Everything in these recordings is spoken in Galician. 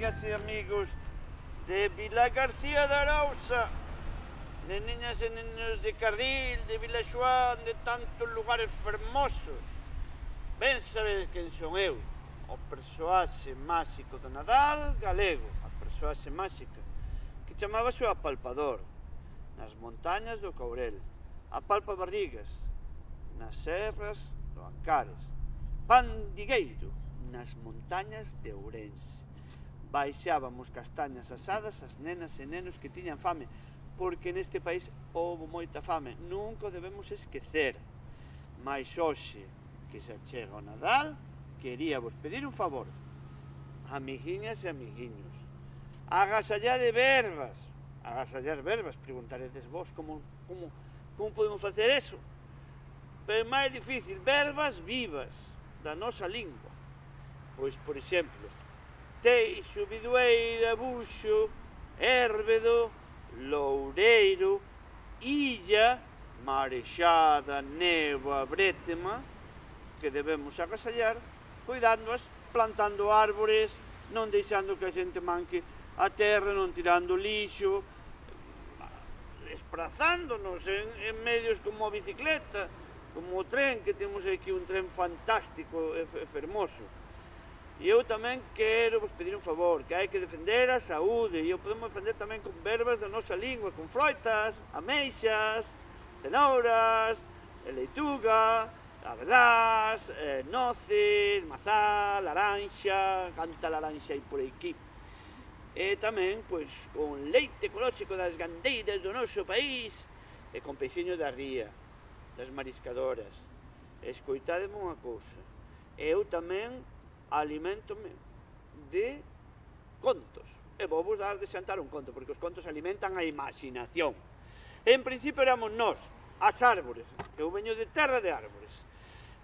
amigas e amigos de Vila García de Arousa, neniñas e nenos de Carril, de Vila Xoán, de tantos lugares fermosos. Ben sabedes quen son eu, o persoaxe máxico do Nadal galego, a persoaxe máxica, que chamábase o apalpador, nas montañas do Courel, apalpa barrigas, nas serras do Ancares, pandigueiro, nas montañas de Ourense. Baixábamos castañas asadas as nenas e nenos que tiñan fame, porque neste país houve moita fame, nunca o debemos esquecer. Mais hoxe, que se chega o Nadal, queríavos pedir un favor, amiguiñas e amiguiños, agasallar verbas, preguntaredes vos, como podemos facer eso? Pero é máis difícil, verbas vivas da nosa lingua. Pois, por exemplo, Teixo, Bidueira, Buxo, Érvedo, Loureiro, Illa, Marexada, Néboa, Brétema, que debemos agasallar, cuidándoas, plantando árbores, non deixando que a xente manque a terra, non tirando lixo, esprazándonos en medios como a bicicleta, como o tren, que temos aquí un tren fantástico e fermoso. E eu tamén quero vos pedir un favor, que hai que defender a saúde, e o podemos defender tamén con verbas da nosa lingua, con froitas, ameixas, cenouras, leituga, abelás, noces, mazá, laranxa, canta laranxa aí por aquí. E tamén, pois, con leite ecolóxico das gandeiras do noso país, e con peixiño da ría, das mariscadoras. Escoitademe unha cousa, eu tamén alimentome de contos, e vou vos dar de xantar un conto, porque os contos alimentan a imaginación. En principio éramos nós, as árbores, que eu veño de terra de árbores.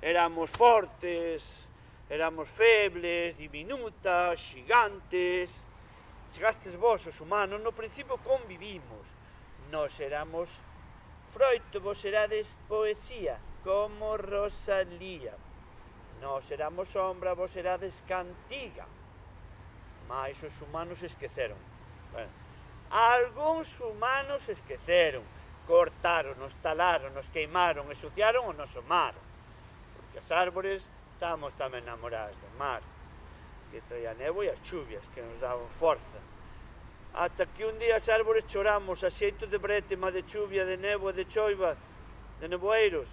Éramos fortes, éramos febles, diminutas, xigantes. Chegastes vos, os humanos, no principio convivimos. Nós éramos froito, vos serades poesía, como Rosalía. Nós éramos sombra, vos serades cantiga. Mais os humanos esqueceron. Bueno, algúns humanos esqueceron. Cortaronos, taláronos, queimaron, ensuciaron o noso mar. Porque as árbores estamos tamén namoradas do mar, que traía a néboa e as chuvias, que nos daban forza. Ata que un día as árbores choramos a xeito de brétema, de chuvia, de néboa, de choiva, de neboeiros.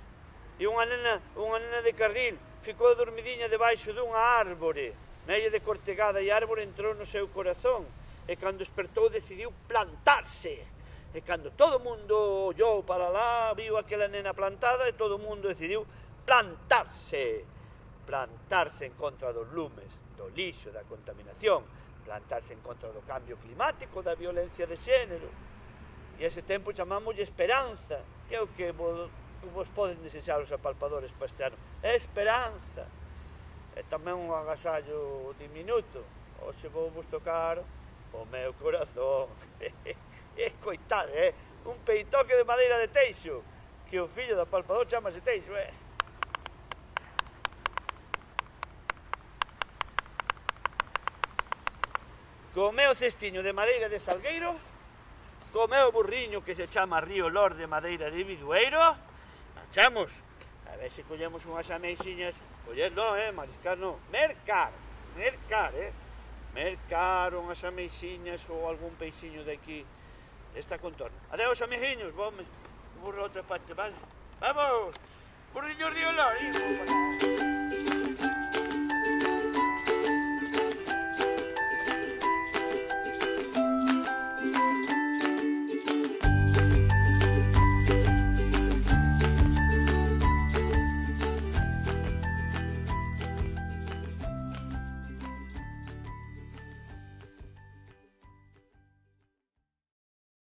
E unha nena de Carril ficou dormidiña debaixo dunha árbore, media de cortegada, e a árbore entrou no seu corazón, e cando despertou decidiu plantarse. E cando todo o mundo ollou para lá, viu aquela nena plantada, e todo o mundo decidiu plantarse. Plantarse en contra dos lumes, do lixo, da contaminación, plantarse en contra do cambio climático, da violencia de xénero. E ese tempo chamámoslle esperanza, que é o que vos poden desexar os apalpadores para este ano. Esperanza. E tamén un agasallo diminuto. Hoxe vou vos tocar o meu corazón. Coitade, un peitoque de madeira de Teixo, que o fillo do apalpador chamase Teixo, Co meu cestiño de madeira de Salgueiro, co meu burriño que se chama Río Lor de madeira de Bidueiro, marchamos. A ver se collemos unhas ameixiñas, coller non, mariscar non, mercar, mercar unhas ameixiñas ou algún peixiño de aquí, desta contorna. Adeus, amiguiños, vome, burro outra parte, vale? Vamos, burriño Río Lor,